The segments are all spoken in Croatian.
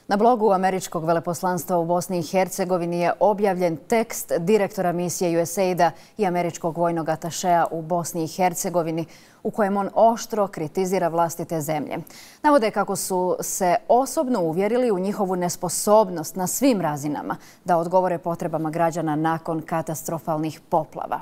Na blogu američkog veleposlanstva u Bosni i Hercegovini je objavljen tekst direktora misije USAID-a i američkog vojnog atašeja u Bosni i Hercegovini u kojem on oštro kritizira vlastite zemlje. Navode kako su se osobno uvjerili u njihovu nesposobnost na svim razinama da odgovore potrebama građana nakon katastrofalnih poplava.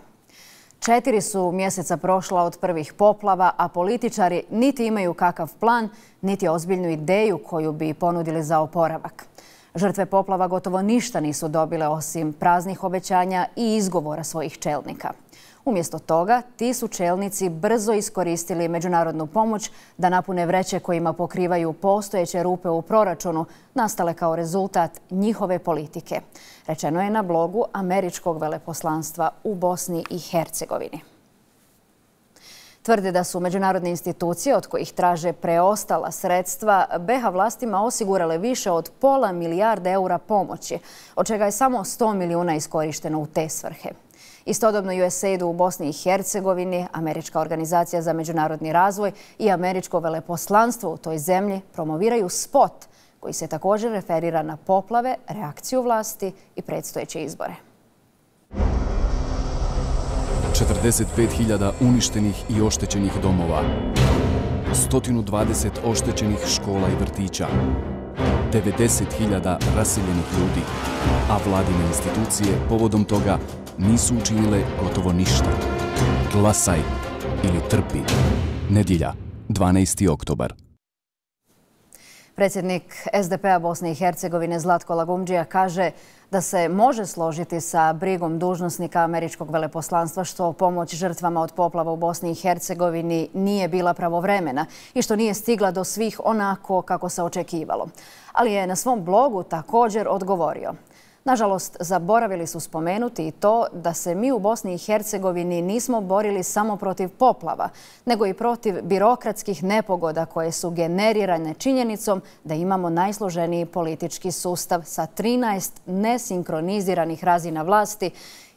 4 su mjeseca prošla od prvih poplava, a političari niti imaju kakav plan, niti ozbiljnu ideju koju bi ponudili za oporavak. Žrtve poplava gotovo ništa nisu dobile osim praznih obećanja i izgovora svojih čelnika. Umjesto toga, ti su čelnici brzo iskoristili međunarodnu pomoć da napune vreće kojima pokrivaju postojeće rupe u proračunu, nastale kao rezultat njihove politike. Rečeno je na blogu američkog veleposlanstva u Bosni i Hercegovini. Tvrde da su međunarodne institucije od kojih traže preostala sredstva BiH vlastima osigurale više od pola milijarde eura pomoći, od čega je samo 100 milijuna iskorišteno u te svrhe. Istodobno USAID u Bosni i Hercegovini, Američka organizacija za međunarodni razvoj i američko veleposlanstvo u toj zemlji promoviraju spot koji se također referira na poplave, reakciju vlasti i predstojeće izbore. 45.000 uništenih i oštećenih domova, 120 oštećenih škola i vrtića, 90.000 raseljenih ljudi, a vladine institucije povodom toga nisu učinile gotovo ništa. Glasaj ili trpi. Nedjelja, 12. oktobar. Predsjednik SDP-a Bosne i Hercegovine Zlatko Lagumdžija kaže da se može složiti sa brigom dužnosnika američkog veleposlanstva što pomoć žrtvama od poplava u Bosni i Hercegovini nije bila pravovremena i što nije stigla do svih onako kako se očekivalo. Ali je na svom blogu također odgovorio: nažalost, zaboravili su spomenuti i to da se mi u Bosni i Hercegovini nismo borili samo protiv poplava, nego i protiv birokratskih nepogoda koje su generirane činjenicom da imamo najsloženiji politički sustav sa 13 nesinkroniziranih razina vlasti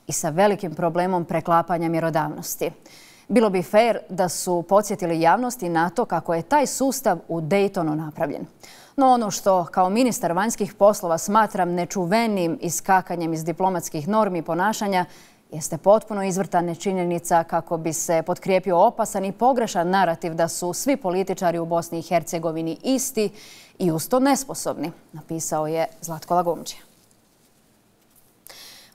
i sa velikim problemom preklapanja mjerodavnosti. Bilo bi fair da su podsjetili javnosti na to kako je taj sustav u Daytonu napravljen. No ono što kao ministar vanjskih poslova smatram nečuvenim iskakanjem iz diplomatskih normi ponašanja jeste potpuno izvrtana činjenica kako bi se potkrijepio opasan i pogrešan narativ da su svi političari u Bosni i Hercegovini isti i uz to nesposobni, napisao je Zlatko Lagumdžija.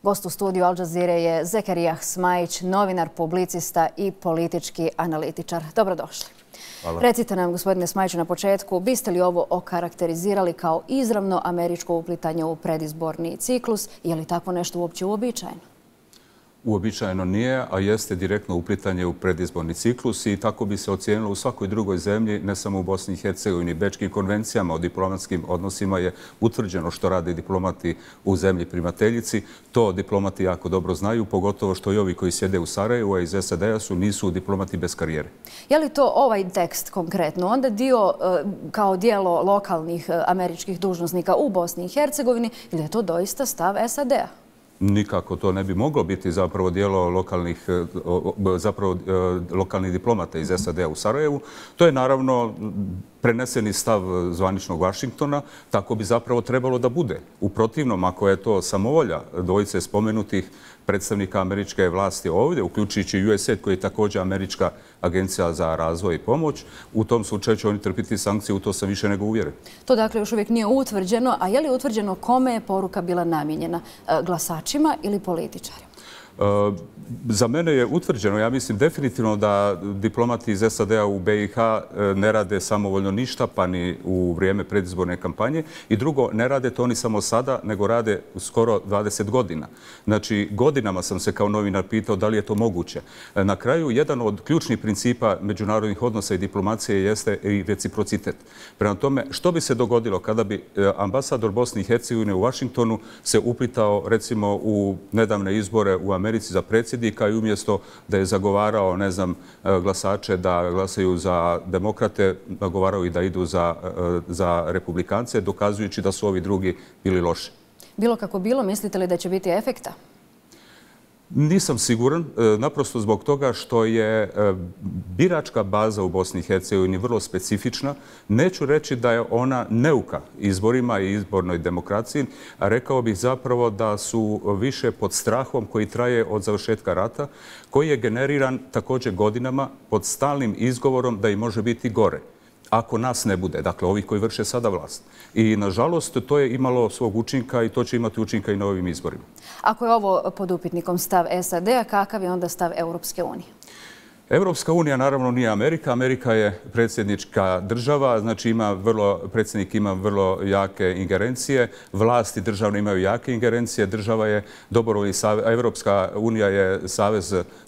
Gost u studiju Al Jazeere je Zekerijah Smajić, novinar, publicista i politički analitičar. Dobrodošli. Hvala. Recite nam, gospodine Smajiću, na početku, biste li ovo okarakterizirali kao izravno američko uplitanje u predizborni ciklus? Je li tako nešto uopće uobičajeno? Uobičajeno nije, a jeste direktno uplitanje u predizborni ciklus i tako bi se ocijenilo u svakoj drugoj zemlji, ne samo u Bosni i Hercegovini. Bečkim konvencijama o diplomatskim odnosima je utvrđeno što rade diplomati u zemlji primateljici. To diplomati jako dobro znaju, pogotovo što i ovi koji sjede u Sarajevu, a iz SAD-a nisu diplomati bez karijere. Je li to ovaj tekst konkretno onda dio kao dijelo lokalnih američkih dužnosnika u Bosni i Hercegovini ili je to doista stav SAD-a? Nikako to ne bi moglo biti zapravo dijelo lokalnih diplomata iz SAD-a u Sarajevu. To je naravno preneseni stav zvaničnog Vašingtona, tako bi zapravo trebalo da bude. U protivnom, ako je to samovolja dvojice spomenutih predstavnika američke vlasti ovdje, uključujući USAID koji je također američka agencija za razvoj i pomoć, u tom slučaju će oni trpiti sankcije, u to sam više nego uvjeren. To dakle još uvijek nije utvrđeno, a je li utvrđeno kome je poruka bila namijenjena? Glasačima ili političarima? Za mene je utvrđeno, ja mislim definitivno da diplomati iz SAD-a u BiH ne rade samovoljno ništa, pa ni u vrijeme predizborne kampanje. I drugo, ne rade to oni samo sada, nego rade skoro 20 godina. Znači, godinama sam se kao novinar pitao da li je to moguće. Na kraju, jedan od ključnih principa međunarodnih odnosa i diplomacije jeste i reciprocitet. Prema tome, što bi se dogodilo kada bi ambasador Bosne i Hercegovine u Vašingtonu se uplitao, recimo, u nedavne izbore u Americi za predsjednika i umjesto da je zagovarao, ne znam, glasače da glasaju za demokrate, nagovarao i da idu za republikance, dokazujući da su ovi drugi bili loši. Bilo kako bilo, mislite li da će biti efekta? Nisam siguran, naprosto zbog toga što je biračka baza u Bosni i Hercegovini vrlo specifična. Neću reći da je ona neuka izborima i izbornoj demokraciji, a rekao bih zapravo da su više pod strahom koji traje od završetka rata, koji je generiran također godinama pod stalnim izgovorom da i može biti gore ako nas ne bude, dakle ovi koji vrše sada vlast. I nažalost to je imalo svog učinka i to će imati učinka i na ovim izborima. Ako je ovo pod upitnikom stav SAD-a, kakav je onda stav Europske unije? Europska unija naravno nije Amerika. Amerika je predsjednička država, znači predsjednik ima vrlo jake ingerencije, vlasti državne imaju jake ingerencije, država je dobrovoljni savez, Europska unija je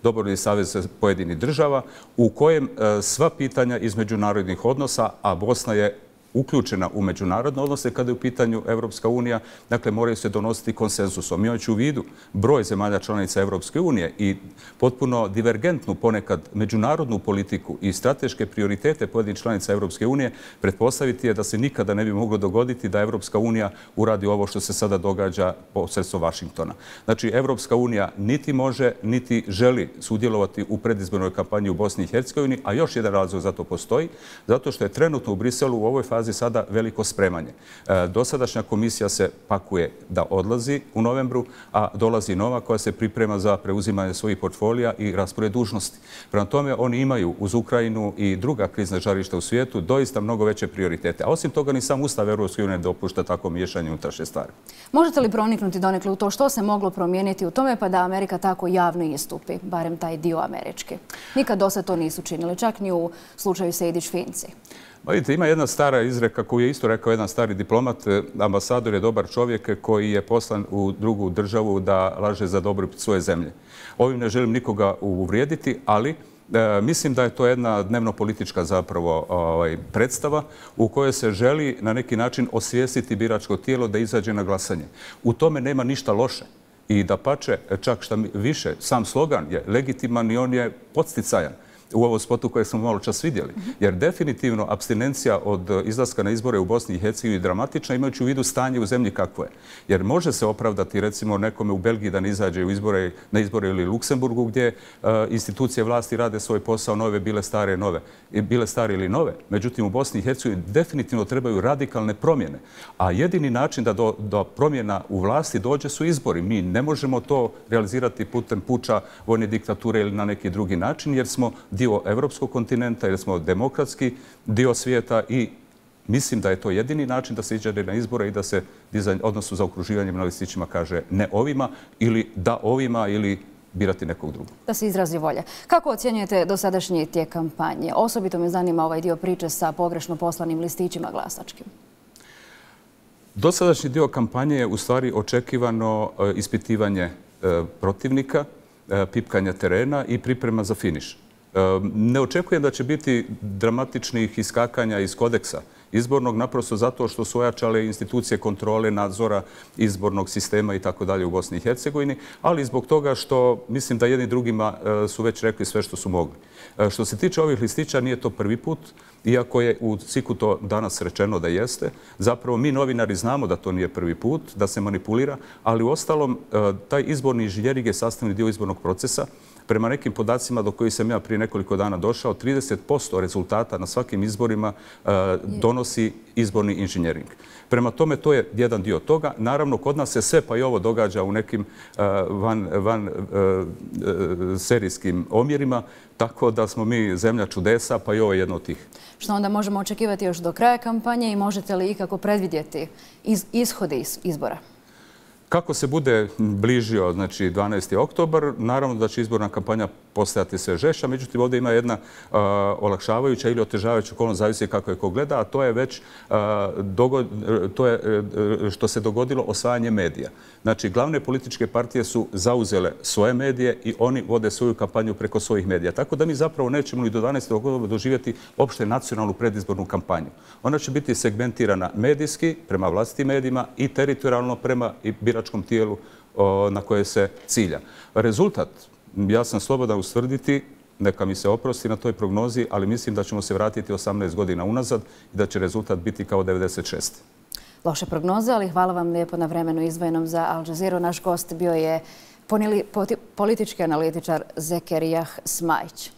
dobrovoljni savez pojedinih država u kojem sva pitanja iz međunarodnih odnosa, a Bosna je uključena u međunarodne odnose kada je u pitanju Europska unija, dakle moraju se donositi konsenzusom. Imajući u vidu broj zemalja članica Europske unije i potpuno divergentnu ponekad međunarodnu politiku i strateške prioritete pojedinih članica Europske unije, pretpostaviti je da se nikada ne bi moglo dogoditi da Europska unija uradi ovo što se sada događa posredstvom Vašingtona. Znači, Europska unija niti može, niti želi sudjelovati u predizbornoj kampanji u Bosni i Hercegovini, a još jedan razlog za to postoji, zato što je trenutno u Briselu u ovoj fazi sada veliko spremanje. Dosadašnja komisija se pakuje da odlazi u novembru, a dolazi nova koja se priprema za preuzimanje svojih portfolija i raspored dužnosti. Prema tome, oni imaju uz Ukrajinu i druga krizna žarišta u svijetu doista mnogo veće prioritete. A osim toga, ni sam Ustav Europske unije ne dopušta tako miješanje unutrašnje stvari. Možete li proniknuti donekle u to što se moglo promijeniti u tome pa da Amerika tako javno istupi, barem taj dio američki? Nikad do sad to nisu činili, čak ni u slučaju Sejdić-Finci. Vidite, ima jedna stara izreka koju je isto rekao jedan stari diplomat, ambasador je dobar čovjek koji je poslan u drugu državu da laže za dobrobit svoje zemlje. Ovim ne želim nikoga uvrijediti, ali mislim da je to jedna dnevno-politička zapravo predstava u kojoj se želi na neki način osvijestiti biračko tijelo da izađe na glasanje. U tome nema ništa loše. I dapače, čak šta više, sam slogan je legitiman i on je podsticajan u ovom spotu koje smo malo čas vidjeli. Jer definitivno apstinencija od izlaska na izbore u Bosni i Hercegovini je dramatična imajući u vidu stanje u zemlji kakvo je. Jer može se opravdati recimo nekome u Belgiji da ne izađe na izbore ili Luksemburgu gdje institucije vlasti rade svoj posao, nove bile stare ili nove. Međutim, u Bosni i Hercegovini definitivno trebaju radikalne promjene. A jedini način da do promjena u vlasti dođe su izbori. Mi ne možemo to realizirati putem puča, vojne diktature ili na neki drugi način jer smo dio evropskog kontinenta, jer smo demokratski dio svijeta i mislim da je to jedini način da se iđe na izbore i da se odnosu za okruživanjem na listićima kaže ne ovima ili da ovima ili birati nekog drugog. Da se izrazi volja. Kako ocjenjujete dosadašnji tijek kampanje? Osobito me zanima ovaj dio priče sa pogrešno poslanim listićima glasačkim. Dosadašnji dio kampanje je u stvari očekivano ispitivanje protivnika, pipkanje terena i priprema za finiš. Ne očekujem da će biti dramatičnih iskakanja iz kodeksa izbornog, naprosto zato što su ojačale institucije kontrole, nadzora izbornog sistema i tako dalje u Bosni i Hercegovini, ali zbog toga što mislim da jedni drugima su već rekli sve što su mogli. Što se tiče ovih listića, nije to prvi put, iako je u SIK-u to danas rečeno da jeste. Zapravo mi novinari znamo da to nije prvi put, da se manipulira, ali u ostalom taj izborni inženjering je sastavni dio izbornog procesa. Prema nekim podacima do kojih sam ja prije nekoliko dana došao, 30% rezultata na svakim izborima donosi izborni inženjering. Prema tome, to je jedan dio toga. Naravno, kod nas se sve pa i ovo događa u nekim van serijskim omjerima, tako da smo mi zemlja čudesa, pa i ovo je jedno od tih. Što onda možemo očekivati još do kraja kampanje i možete li ikako predvidjeti ishode izbora? Kako se bude bližio, znači 12. oktobar, naravno da će izborna kampanja postajati sve žešća, međutim ovdje ima jedna olakšavajuća ili otežavajuća okolnost, zavisi kako je ko gleda, a to je već što se dogodilo osvajanje medija. Znači, glavne političke partije su zauzele svoje medije i oni vode svoju kampanju preko svojih medija. Tako da mi zapravo nećemo ni do 12. oktobra doživjeti opšte nacionalnu predizbornu kampanju. Ona će biti segmentirana medijski prema vlastitim medijima i teritorijalno prema biračkom tijelu na koje se cilja. Rezultat, ja sam slobodan ustvrditi, neka mi se oprosti na toj prognozi, ali mislim da ćemo se vratiti 18 godina unazad i da će rezultat biti kao 96. Loše prognoze, ali hvala vam lijepo na vremenu izdvojenom za Al Jazeera. Naš gost bio je politički analitičar Zekerijah Smajić.